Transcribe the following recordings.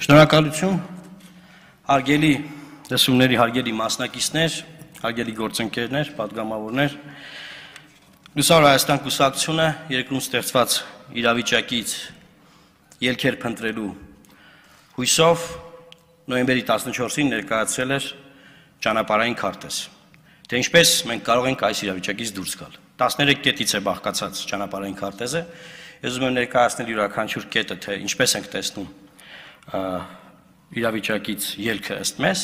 Շնորհակալություն, հարգելի լսումների հարգելի մասնակիցներ, հարգելի գործընկերներ, պատգամավորներ, Լուսավոր Հայաստան կուսակցությունը երկրում ստեղծված իրավիճակից ելքեր փնտրելու հույսով նոյեմբերի 14-ին ներկայացրել էր ճանապարհային քարտեզ, թե ինչպես մենք կարող ենք այս իրավիճակից դուրս գալ։ 13 կետից է բաղկացած ճանապարհային քարտեզը, ես ուզում եմ ներկայացնել յուրաքանչյուր կետը, թե ինչպես ենք տեսնում իրավիճակից ելքը ըստ մեզ,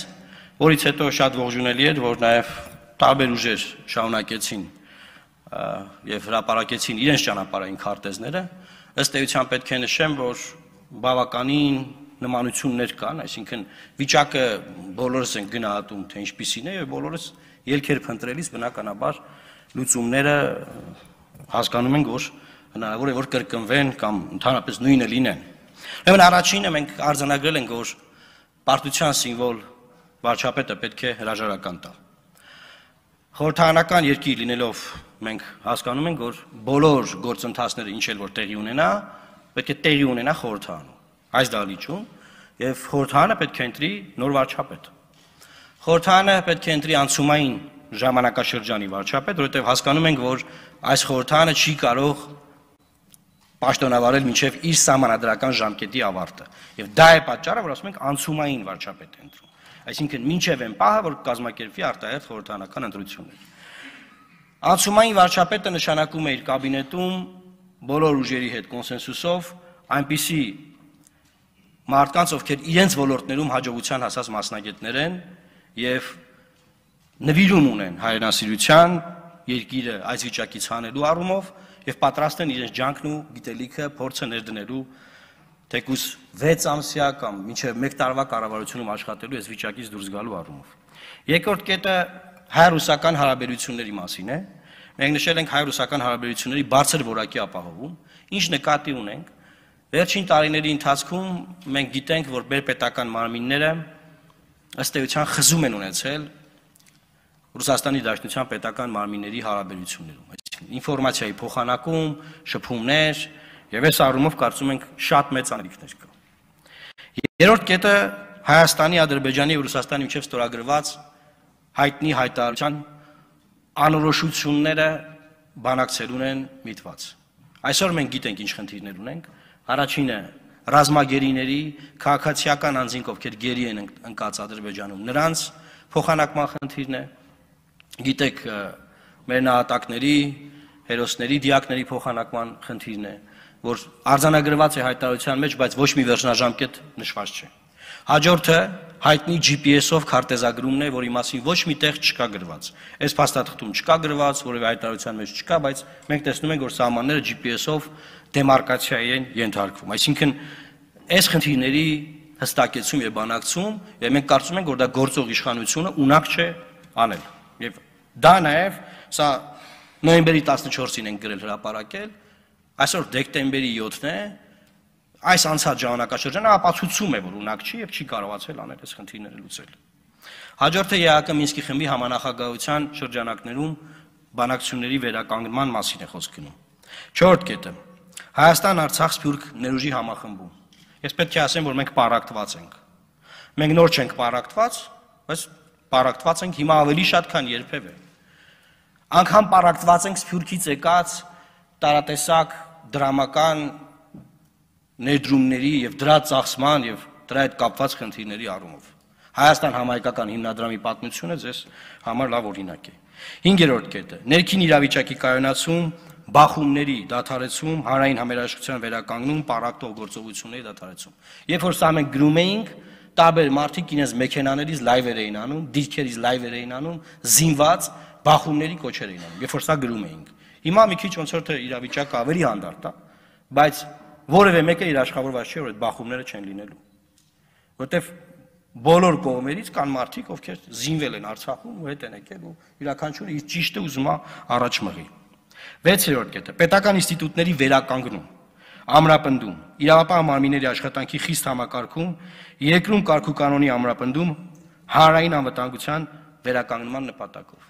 որից հետո շատ ողջունելի էր, որ նաև տարբեր ուժեր շարունակեցին եւ հրապարակեցին իրենց ճանապարհային քարտեզները, ըստ էության պետք է նշեմ, որ բավականին նմանություններ կան, այսինքն վիճակը բոլորս ենք գնահատում, թե ինչպիսին է, եւ բոլորս ելքեր փնտրելիս բնականաբար լուծումները հասկանում ենք, որ հնարավոր է որ կրկնվեն կամ ընդհանրապես նույնը լինեն։ Ուրեմն առաջինը մենք արձանագրել ենք, որ պարտության սիմվոլ վարչապետը պետք է հրաժարական տա։ Խորհրդարանական երկիր լինելով մենք հասկանում ենք, որ բոլոր գործընթացները ինչ էլ որ տեղի ունենա, պետք է տեղի ունենա խորհրդարանում։ Այս դահլիճում եւ խորհրդարանը պետք է ընտրի նոր վարչապետ։ Խորհրդարանը պետք է ընտրի անցումային ժամանակաշրջանի վարչապետ, որովհետեւ հասկանում ենք, որ այս խորհրդարանը չի կարող պաշտոնավարել մինչև իր սահմանադրական ժամկետի ավարտը։ Եվ դա է պատճառը, որ ասում ենք անցումային վարչապետ է ընտրում։ Այսինքն մինչև այն պահը, որ կազմակերպվի արտահերթ խորհրդարանական ընտրություններ։ Անցումային վարչապետը նշանակում է իր կաբինետում բոլոր ուժերի հետ կոնսենսուսով այնպիսի մարդկանց, ովքեր իրենց ոլորտներում հաջողության հասած մասնագետներ են եւ նվիրում ունեն հայրենասիրության, երկիրը այս վիճակից հանելու առումով եւ պատրաստ են իրենց ջանքն ու գիտելիքը փորձը ներդնելու թեկուզ 6 ամսյա կամ մինչև 1 տարվա կառավարությունում աշխատելու այս վիճակից դուրս գալու առումով։ Երկրորդ կետը հայ-ռուսական հարաբերությունների մասին է։ Մենք նշել ենք հայ-ռուսական հարաբերությունների բարձր որակի ապահովում, ինչ նկատի ունենք։ Վերջին տարիների ընթացքում մենք գիտենք, որ բերպետական մարմինները ըստ էության խզում են ունեցել Ռուսաստանի Դաշնության պետական մարմինների հարաբերություններում, այսինքն ինֆորմացիայի փոխանակում, շփումներ, եւ այս առումով կարծում ենք շատ մեծ անելիքներ կա։ Երրորդ կետը Հայաստանի, Ադրբեջանի եւ Ռուսաստանի միջև ստորագրված հայտնի հայտարարության անորոշությունները բանակցելուն են միտված։ Այսօր մենք գիտենք ինչ խնդիրներ ունենք։ Առաջինը ռազմագերիների քաղաքացիական անձինք, ովքեր գերի են ընկած Ադրբեջանում, նրանց փոխանակման խնդիրն է։ Գիտեք, մեր նահատակների, հերոսների, դիակների փոխանակման խնդիրն է, որ արձանագրված է հայտարարության մեջ, բայց ոչ մի վերջնաժամկետ նշված չէ։ Հաջորդը հայտնի GPS-ով քարտեզագրումն է, որի մասին ոչ մի տեղ չկա գրված։ Այս փաստաթղթում չկա գրված, որևէ հայտարարության մեջ չկա, բայց մենք տեսնում ենք, որ սահմանները GPS-ով դեմարկացիայի են ենթարկվում։ Այսինքն, այս խնդիրների հստակեցում եւ բանակցում, եւ մենք կարծում ենք, որ դա գործող իշխանությունը ունակ չէ անել։ Եվ դա նաև սա նոյեմբերի 14-ին ենք գրել հրապարակել, այսօր դեկտեմբերի 7-ն է, այս անցած ժամանակաշրջանը ապացուցում է, որ ունակ չի եւ չի կարողացել անել այս խնդիրները լուծել։ Հաջորդը ԵԱԿ Մինսկի խմբի համանախագահության շրջանակներում բանակցությունների վերականգնման մասին է խոսք գնում։ Չորրորդ կետը Հայաստան-Արցախ Սփյուռք ներուժի համախմբում։ Ես պետք է ասեմ, որ մենք պարակտված ենք։ Մենք նոր չենք պարակտված, բայց պարակտված ենք հիմա ավելի շատ, քան երբևէ։ Անգամ պարակտված ենք Սփյուռքից եկած տարատեսակ դրամական ներդրումների եւ դրա ծախսման եւ դրա հետ կապված խնդիրների առումով։ Հայաստան համահայկական հիմնադրամի պատմությունը ձեզ համար լավ օրինակ է։ 5-րդ կետը ներքին իրավիճակի կայունացում, բախումների դադարեցում, հանրային համերաշխության վերականգնում, պարակտող գործողությունների դադարեցում։ Երբ որ սա մենք գրում էինք, տարբեր մարդիկ իրենց մեքենաներից լայվեր էին անում, դիրքերից լայվեր էին անում, զինված բախումների կոչեր էին անում, երբ որ սա գրում էինք։ Հիմա մի քիչ ոնց որ թե իրավիճակը ավելի հանդարտ է, բայց որևէ մեկը իր աշխատավորված չէ, որ այդ բախումները չեն լինելու։ Որտեվ բոլոր կողմերից կան մարդիկ, ովքեր զինվել են Արցախում ու հետ են եկել ու յուրաքանչյուրը իր ճիշտը ուզում է առաջ մղի։ 6-րդ կետը պետական ինստիտուտների վերականգնում, ամրապնդում, իրավապահ մարմինների աշխատանքի խիստ համակարգում, երկրում կարգու կանոնի ամրապնդում, հանրային անվտանգության վերականգնման նպատակով։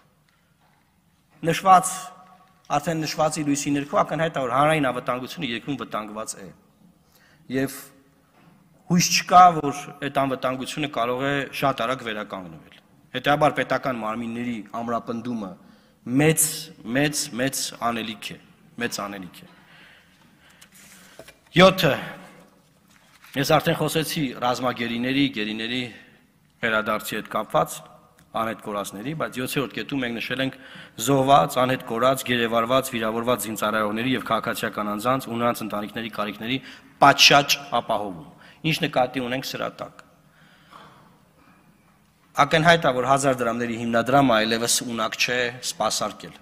Արդեն նշվածի լույսի ներքո ակնհայտ է, որ հանրային անվտանգությունը երկրում վտանգված է։ Եվ հույս չկա, որ այդ անվտանգությունը կարող է շատ արագ վերականգնվել։ Հետեւաբար պետական մարմինների ամրապնդումը մեծ անելիք է, մեծ անելիք է։ 7. Ես արդեն խոսեցի ռազմագերիների, գերիների վերադարձի հետ կապված, անհետ կորածների, բայց 7-րդ կետում մենք նշել ենք զոհված, անհետ կորած, գերեվարված, վիրավորված զինծառայողների եւ քաղաքացիական անձանց ու նրանց ընտանիքների կարիքների պատշաճ ապահովում։ Ինչ նկատի ունենք սրա տակ։ Ակնհայտ է, որ 1000 դրամների հիմնադրամը այլևս ունակ չէ սպասարկել։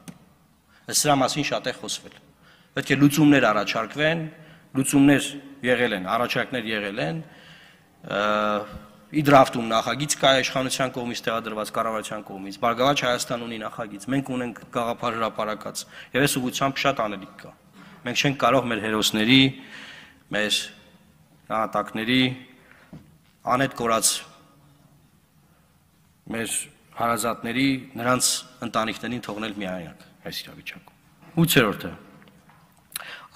Սրա մասին շատ է խոսվել։ Պետք է լուծումներ առաջարկվեն, լուծումներ եղել են, առաջարկներ եղել են, Իդրաֆտում նախագիծ կա իշխանության կողմից տեղադրված կառավարության կողմից, Բարգավաճ Հայաստան ունի նախագիծ, մենք ունենք գաղափար հրապարակած, եւ այս ուղղությամբ շատ անելիք կա։ Մենք չենք կարող մեր հերոսների, մեր նահատակների, անհետ կորած մեր հարազատների, նրանց ընտանիքներին թողնել միայնակ այս իրավիճակում։ 8-րդը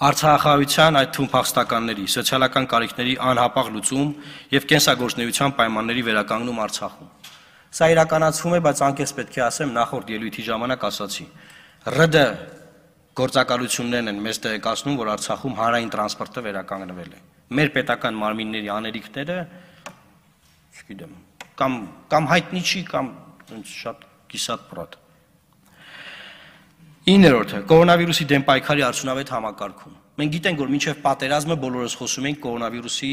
Արցախահայության, այդ թվում փախստականների, սոցիալական կարիքների անհապաղ լուծում եւ կենսագործնեության պայմանների վերականգնում Արցախում։ Սա իրականացվում է, բայց անկեղծ պետք է ասեմ, նախորդ ելույթի ժամանակ ասացի։ ՌԴ գործակալություններն են մեզ տեղեկացնում, որ Արցախում հանրային տրանսպորտը վերականգնվել է։ Մեր պետական մարմինների անելիքները, չգիտեմ, կամ հայտնի չի, կամ շատ կիսատ պրատ։ 9-րդը կորոնավիրուսի դեմ պայքարի արդյունավետ համակարգում։ Մենք գիտենք, որ մինչև պատերազմը բոլորս խոսում ենք կորոնավիրուսի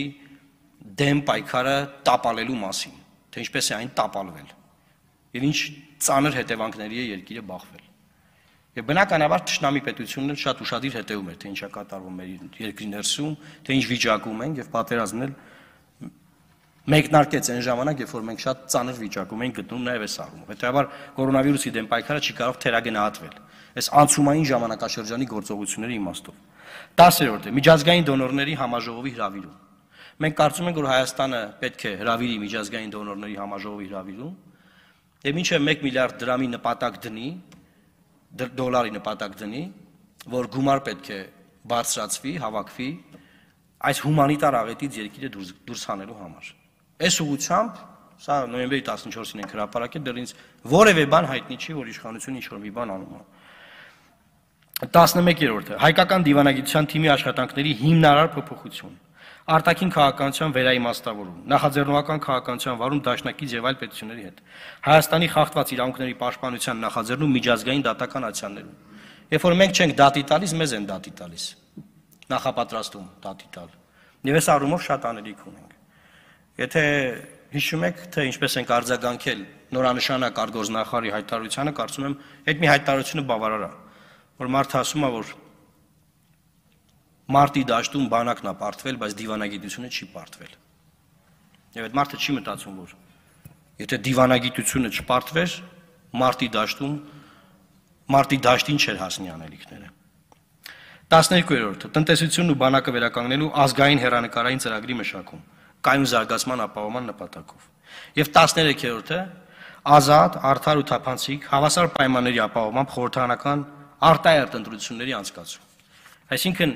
դեմ պայքարը տապալելու մասին, թե ինչպես է այն տապալվել եւ ինչ ծանր հետևանքների է երկիրը բախվել։ Եվ բնականաբար թշնամի պետությունն շատ ուշադիր հետևում էր, թե ինչ է կատարվում մեր երկրի ներսում, թե ինչ վիճակում են եւ պատերազմն էլ մեկնարկեց այն ժամանակ, երբ որ մենք շատ ծանր վիճակում ենք գտնում նաեւ այս առումով։ Հետեւաբար կորոնավիրուսի դեմ պայքարը չի կարող թերագնահատվել այս անցումային ժամանակաշրջանի գործողությունների իմաստով։ 10-րդը միջազգային դոնորների համաժողովի հրավիրում։ Մենք կարծում ենք, որ Հայաստանը պետք է հրավիրի միջազգային դոնորների համաժողովի հրավիրում, եւ մինչեւ 1 միլիարդ դրամի նպատակ դնի, դոլարի նպատակ դնի, որ գումար պետք է բարձրացվի, հավաքվի այս հումանիտար աղետից երկիրը դուրս հանելու համար։ Այս ուղղությամբ, սա նոյեմբերի 14-ին ենք հրապարակել, դեռ ինձ որևէ բան հայտնի չի, որ իշխանությունը ինչ-որ մի բան անում է։ 11-րդը հայկական դիվանագիտության թիմի աշխատանքների հիմնարար փոփոխություն, արտաքին քաղաքականության վերաիմաստավորում, նախաձեռնողական քաղաքականության վարում դաշնակից եւ այլ պետությունների հետ, Հայաստանի խախտված իրավունքների պաշտպանության նախաձեռնում միջազգային դատական ակցիաներում։ Երբ որ մենք չենք դատի տալիս, մեզ են դատի տալիս, նախապատրաստում դատի տալ։ Եվ այս առումով շատ անելիք ունենք։ Եթե հիշում եք, թե ինչպես ենք արձագանքել նորանշանակ արտգործնախարարի հայտարարությանը, կարծում եմ, այդ մի հայտարարությունը բավարար է, որ մարդը ասում է, որ մարտի դաշտում բանակն է պարտվել, բայց դիվանագիտությունը չի պարտվել։ Եվ այդ մարդը չի մտածում, որ եթե դիվանագիտությունը չպարտվեր, մարտի դաշտին չէր հասնի անելիքները։ 12-րդը տնտեսությունն ու բանակը վերականգնելու ազգային հեռանկարային ծրագրի մշակում, կայուն զարգացման ապահովման նպատակով։ Եվ 13-րդը ազատ, արդար ու թափանցիկ հավասար պայմանների ապահովմամբ խորհրդարանական արտահերթ ընտրությունների անցկացում։ Այսինքն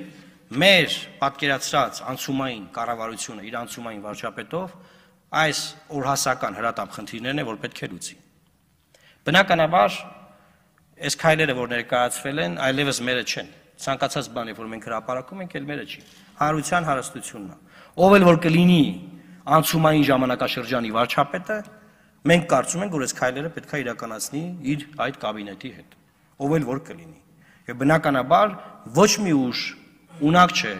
մեր պատկերացրած անցումային կառավարությունը իր անցումային վարչապետով այս օրհասական հրատապ խնդիրներն է, որ պետք է լուծի։ Բնականաբար այս քայլերը, որ ներկայացվել են, այլևս մերը չեն։ Ցանկացած բան, որ մենք հրապարակում ենք, էլ մերը չի։ Հանրության հարստությունն է։ Ով էլ որ կլինի անցումային ժամանակաշրջանի վարչապետը, մենք կարծում ենք, որ այս քայլերը պետք է իրականացնի իր այդ կաբինետի հետ։ Ով էլ որ կլինի։ Եվ բնականաբար ոչ մի ուժ ունակ չէ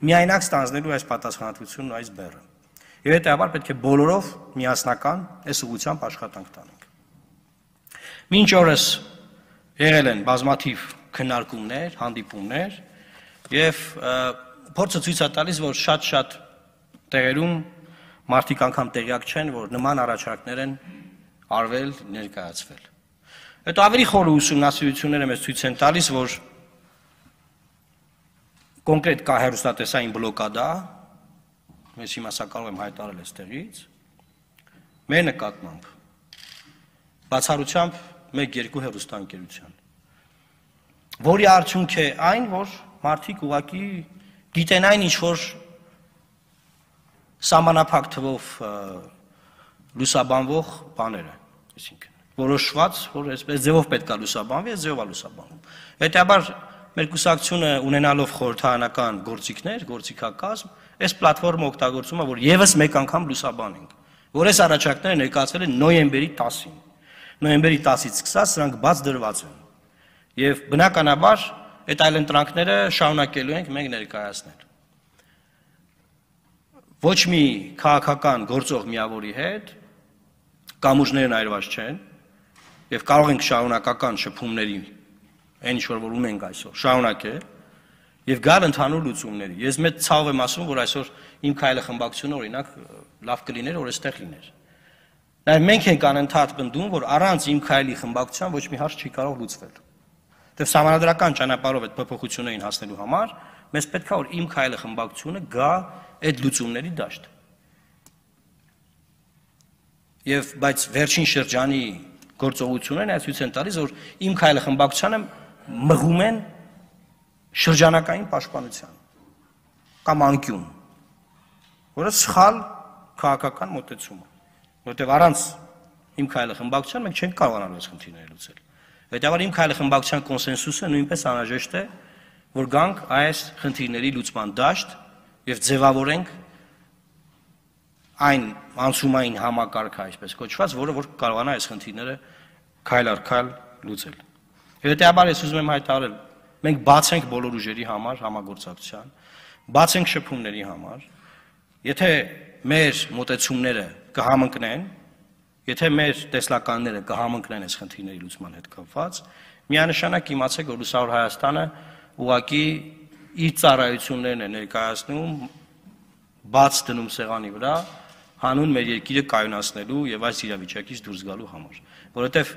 միայնակ ստանձնելու այս պատասխանատվությունն ու այս բեռը։ Եվ հետեւաբար պետք է բոլորով միասնական այս ուղղությամբ աշխատանք տանենք։ Մինչ օրս եղել են բազմաթիվ քննարկումներ, հանդիպումներ եւ փորձը ցույց է տալիս, որ շատ տեղերում մարդիկ անգամ տեղյակ չեն, որ նման առաջարկներ են արվել, ներկայացվել։ Հետո ավելի խորը ուսումնասիրությունները մեզ ցույց են տալիս, որ կոնկրետ կա հեռուստատեսային բլոկադա, ես հիմա սա կարող եմ հայտարարել այստեղից, մեր նկատմամբ, բացառությամբ 1-2 հեռուստաընկերության, որի արդյունք է այն, որ մարդիկ ուղղակի գիտեն այն ինչ որ սահմանափակ թվով լուսաբանվող բաները, այսինքն որոշված, որ այսպես ձևով պետք է լուսաբանվի, այս ձևով է լուսաբանվում։ Հետևաբար մեր կուսակցությունը ունենալով խորհրդարանական գործիքներ, գործիքակազմ, այս պլատֆորմը օգտագործում է, որ եւս մեկ անգամ լուսաբանենք, որ այս առաջարկները ներկայացվել են նոյեմբերի 10-ին։ Նոյեմբերի 10-ից սկսած սրանք բաց դրված են։ Եվ բնականաբար այդ այլընտրանքները շարունակելու ենք մենք ներկայացնել։ Ոչ մի քաղաքական գործող միավորի հետ կամուրջներն այրված չեն եւ կարող ենք շարունակական շփումների այն ինչ որ ունենք այսօր շարունակել եւ գալ ընդհանուր լուծումների։ Ես մեծ ցավ եմ ասում, որ այսօր իմ քայլը խմբակցությունը օրինակ լավ կլիներ, որ այստեղ լիներ։ Նաեւ մենք ենք անընդհատ պնդում, որ առանց իմ քայլի խմբակցության ոչ մի հարց չի կարող լուծվել։ Դեռ համանդրական ճանապարհով այդ փոփոխություններին հասնելու համար մեզ պետք է որ իմ քայլը խմբակցությունը գա այդ լուծումների դաշտ։ Եվ բայց վերջին շրջանի գործողություններն այս ցույց են տալիս, որ իմ քայլը խմբակցությանը մղում են շրջանակային պաշտպանության կամ անկյուն, որը սխալ քաղաքական մոտեցում է, որտեղ առանց իմ քայլը խմբակցության մենք չենք կարողանալու այս խնդիրները լուծել։ Հետևաբար իմ քայլը խմբակցության կոնսենսուսը նույնպես անհրաժեշտ է, որ գանք այս խնդիրների լուծման դաշտ եւ ձևավորենք այն անցումային համակարգը, այսպես կոչված, որը որ կարողանա այս խնդիրները քայլ առ քայլ լուծել։ Հետևաբար ես ուզում եմ հայտարարել, մենք բաց ենք բոլոր ուժերի համար համագործակցության, բաց ենք շփումների համար, եթե մեր մոտեցումները կհամընկնեն, եթե մեր տեսլականները կհամընկնեն այս խնդիրների լուծման հետ կապված, միանշանակ իմացեք, որ Լուսավոր Հայաստանը ուղղակի իր ծառայություններն է ներկայացնում, բաց դնում սեղանի վրա, հանուն մեր երկիրը կայունացնելու եւ այս իրավիճակից դուրս գալու համար, որովհետեւ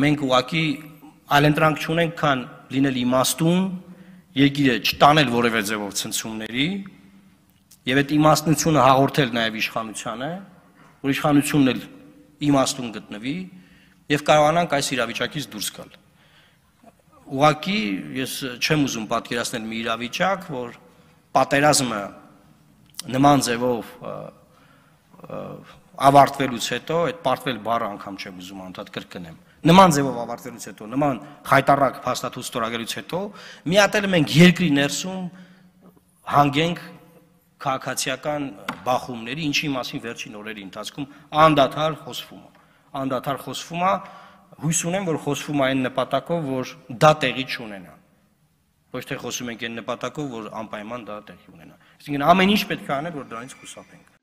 մենք ուղղակի այլընտրանք չունենք, քան լինել իմաստուն, երկիրը չտանել որևէ ձևով ցնցումների եւ այդ իմաստնությունը հաղորդել նաեւ իշխանությանը, որ իշխանությունն էլ իմաստուն գտնվի եւ կարողանանք այս իրավիճակից դուրս գալ։ Ուղղակի ես չեմ ուզում պատկերացնել մի իրավիճակ, որ պատերազմը նման ձևով ավարտվելուց հետո, այդ պարտվել բառը անգամ չեմ ուզում անդադ կրկնեմ, նման ձևով ավարտվելուց հետո, նման խայտառակ փաստաթուղթ ստորագրելուց հետո, միատել մենք երկրի ներսում հանգենք քաղաքացիական բախումների, ինչի մասին վերջին օրերի ընթացքում անդադար խոսվում է, հույս ունեմ, որ խոսվում է այն նպատակով, որ դա տեղի չունենա։ Ոչ թե խոսում ենք այն նպատակով, որ անպայման դա տեղի ունենա։ Այսինքն ամեն ինչ պետք է անել, որ դրանից խուսափենք։